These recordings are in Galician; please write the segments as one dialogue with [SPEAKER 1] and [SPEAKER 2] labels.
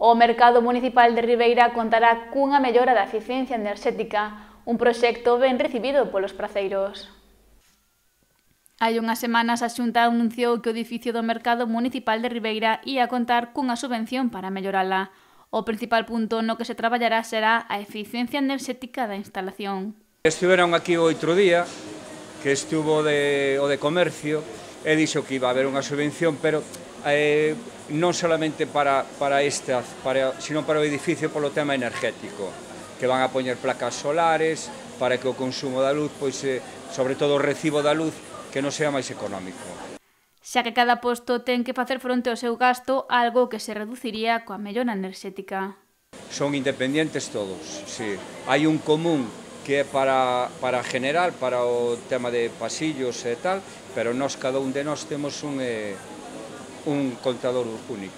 [SPEAKER 1] O Mercado Municipal de Ribeira contará cunha mellora da eficiencia enerxética, un proxecto ben recibido polos praceiros. Hai unhas semanas a Xunta anunciou que o edificio do Mercado Municipal de Ribeira ia contar cunha subvención para mellorala. O principal punto no que se traballará será a eficiencia enerxética da instalación.
[SPEAKER 2] Estiveron aquí o outro día, que estuvo o de comercio, e dixo que iba a haber unha subvención, pero non solamente para esta, sino para o edificio polo tema energético, que van a poñer placas solares para que o consumo da luz, pois, sobre todo o recibo da luz, que non sea máis económico.
[SPEAKER 1] Xa que cada posto ten que facer fronte ao seu gasto, algo que se reduciría coa mellora enerxética.
[SPEAKER 2] Son independientes todos, sí. Hai un común que é para general, para o tema de pasillos e tal, pero cada un de nós temos un contador único.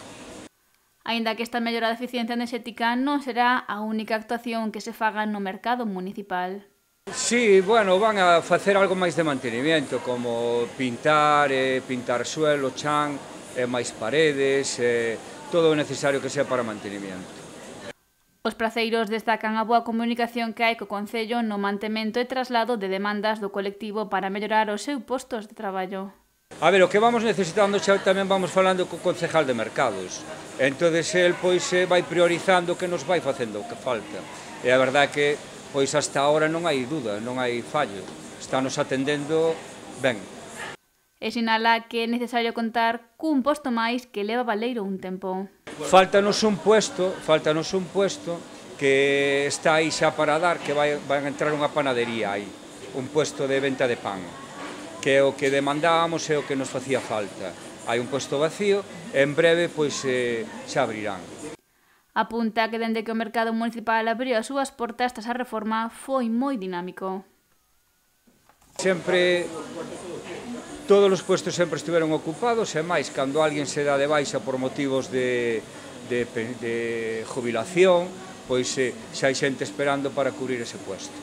[SPEAKER 1] Aínda que esta mellora de eficiencia enerxética non será a única actuación que se faga no mercado municipal.
[SPEAKER 2] Sí, bueno, van a facer algo máis de mantenimiento, como pintar suelo, chan, máis paredes, todo o necesario que sea para mantenimiento.
[SPEAKER 1] Os praceiros destacan a boa comunicación que hai co Concello no mantemento e traslado de demandas do colectivo para mellorar os seus postos de traballo.
[SPEAKER 2] A ver, o que vamos necesitando xa tamén vamos falando co concejal de mercados. Entonces el pois vai priorizando o que nos vai facendo que falta. E a verdade que pois hasta ahora non hai duda, non hai fallo. Estános atendendo ben.
[SPEAKER 1] E sinala que é necesario contar cun posto máis que leva baleiro un tempo.
[SPEAKER 2] Faltanos un puesto que está aí xa para dar, que vai a entrar unha panadería aí, un puesto de venta de pan, que é o que demandábamos e o que nos facía falta. Hai un puesto vacío e en breve pois xa abrirán.
[SPEAKER 1] Apunta que dende que o mercado municipal abriu as súas portas tras a reforma foi moi dinámico.
[SPEAKER 2] Todos os puestos sempre estiveron ocupados e máis cando alguén se dá de baixa por motivos de jubilación, pois xa hai xente esperando para cubrir ese puesto.